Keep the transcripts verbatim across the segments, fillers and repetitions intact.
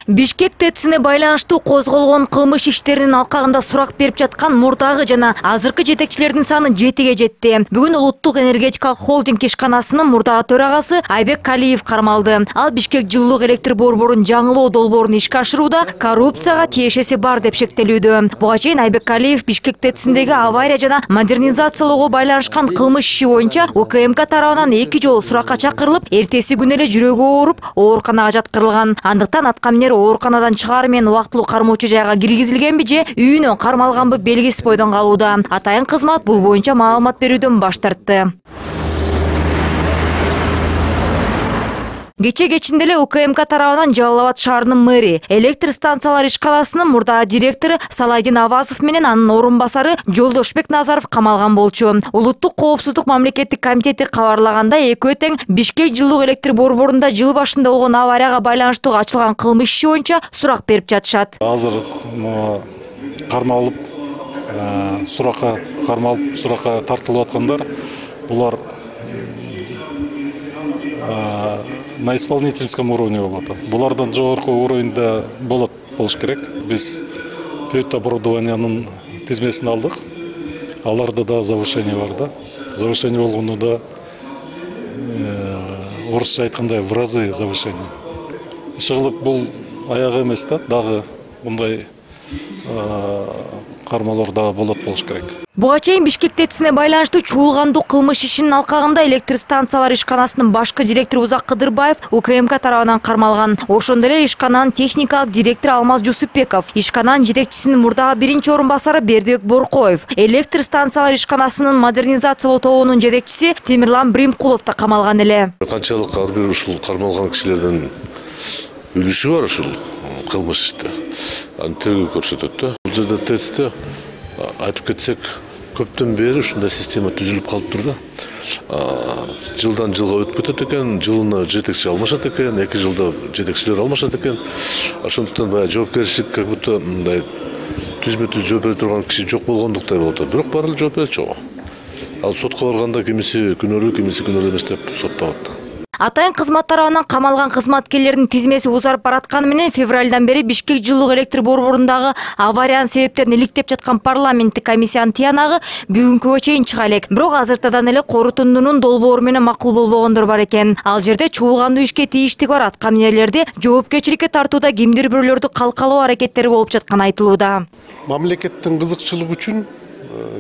Бишкек ТЭЦине байланыштуу козголгон кылмыш иштеринин алкагында сурак берип жаткан мурдагы жана азыркы жетекчилердин саны жетиге жетти. Бүгүн Улуттук энергетикалык холдинг ишканасынын мурдагы төрагасы Айбек Калиев кармалды. Ал Бишкек жылуулук электр борборун жаңылоо долбоорун ишке ашырууда коррупцияга тиешеси бар деп шектелүүдө. Буга чейин Айбек Калиев Бишкек ТЭЦиндеги авария жана модернизациялоого байланышкан кылмыш иши боюнча УКМК тарабынан эки жолу суракка чакырылып, эртеси күнү эле жүрөгү ооруп, ооруканага жаткырылган. Андыктан аткаминер ооруканадан чыгары менен убактылуу кармоочу жайга киргизилгенби же үйүнөн кармалганбы белгисиз бойдон калууда. Атайын кызмат бул боюнча маалымат берүүдөн баш тартты. Кече кечинде эле УКМК тарабынан Жалал Абад шаарынын мэри, электр станциялар ишканасынын мурдагы директору Салайдин Авазов менен анын орун басары Жолдошбек Назаров камалган болчу. Улуттук коопсуздук мамлекеттик комитети кабарлагандай, экөө тең Бишкек жылуулук электр борборунда жыл башында болгон аварияга байланыштуу ачылган кылмыш иши боюнча сурак берип жатышат. Азыр кармалып, суракка кармалып, суракка тартылып аткандар булар на исполнительском уровне болот. Булардан жогорку уровеньде болот болуш керек. Биз пөт оборудованиянын тизмесин алдык. Аларда да завышение бар да. Завышение болгону да орусча айткандай в разы завышение. Иши бул аяк эмес да, дагы мындай кармалар дагы болот болуш керек. Буга чейин Бишкек ТЭЦине байланыштуу чуулгандуу кылмыш ишинин алкагында электр станциялар ишканасынын башкы директору Узак Кыдырбаев УКМК тарабынан кармалган. Ошондой эле ишкананын техникалык директору Алмаз Жусупбеков, ишкананын жетекчисинин мурдагы биринчи орун басары Бердибек Боркоев, электр станциялар ишканасынын модернизациялоо тобунун жетекчиси Темирлан Бримкулов да камалган эле. Канчалык ар бир ушул кармалган кишилердин үлүшү бар ушул кылмыш иште. Аны тергөө көрсөтөт да. Бул жерде ТЭЦте айтып кетсек, көптөн бери ушундай система түзүлүп калыптыр да. Жылдан жылга өтүп кетет экен, жылына жетекчи алмашат экен, эки жылда жетекчилер алмашат экен. Ошондуктан баягы жоопкерчилик как будто мындай түзмө-түз жооп бере турган киши жок болгондуктай болуп атат. Бирок баары эле жооп берет жок. Ал сотко барганда кимиси күнөөлүү, кимиси күнөөлүү эмес деп сотталат. Атайын кызмат тарабынан камалган кызматкерлердин тизмеси узарып баратканы менен февралдан бери Бишкек жылуулук электр борборундагы авариянын себептерин иликтеп жаткан парламенттик комиссиянын тыянагы бүгүнкүгө чейин чыга элек. Бирок азыртадан эле корутундунун долбоору менен макул болбогондор бар экен. Ал жерде чуулгандуу ишке тийиштиги бар аткаминерлерди жоопкерчиликке тартууда кимдир бирөөлөрдү калкалоо аракеттери болуп жатканы айтылууда. Мамлекеттин кызыкчылыгы үчүн,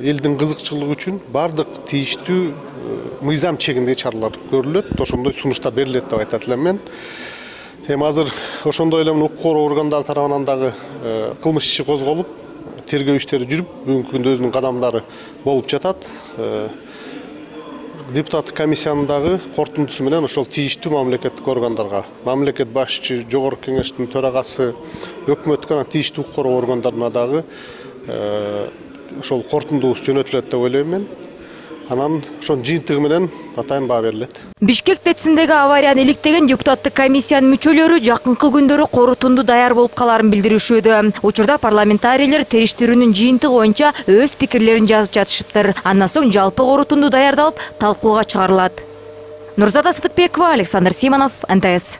элдин кызыкчылыгы үчүн бардык тийиштүү мыйзам чегиндеги чаралар көрүлөт, ошондой сунуштар берилет деп айтат элем мен. Эми азыр ошондой эле укук коргоо органдары тарабынан дагы кылмыш иши козголуп, тергөө иштери жүрүп, бүгүнкү күндө өзүнүн кадамдары болуп жатат. Депутаттык комиссиянын дагы корутундусу менен ошол тийиштүү мамлекеттик органдарга, мамлекет башчы, жогорку кеңештин төрагасы, өкмөткө тийиштүү укук коргоо органдарына дагы ошол корутундубуз жөнөтүлөт деп ойлойм мен. Анан ошонун жыйынтыгы менен атайын баа берилет. Бишкек ТЭЦиндеги аварияны иликтеген депутаттык комиссиянын мүчөлөрү жакынкы күндөрү корутунду даяр болуп каларын билдиришүүдө. Учурда парламентарийлер териштирүүнүн жыйынтыгы боюнча өз пикирлерин жазып жатышыптыр. Андан соң жалпы корутунду даярдалып, талкууга чыгарылат. Нурзада Сыдыкбекова, Александр Симонов, эн тэ эс.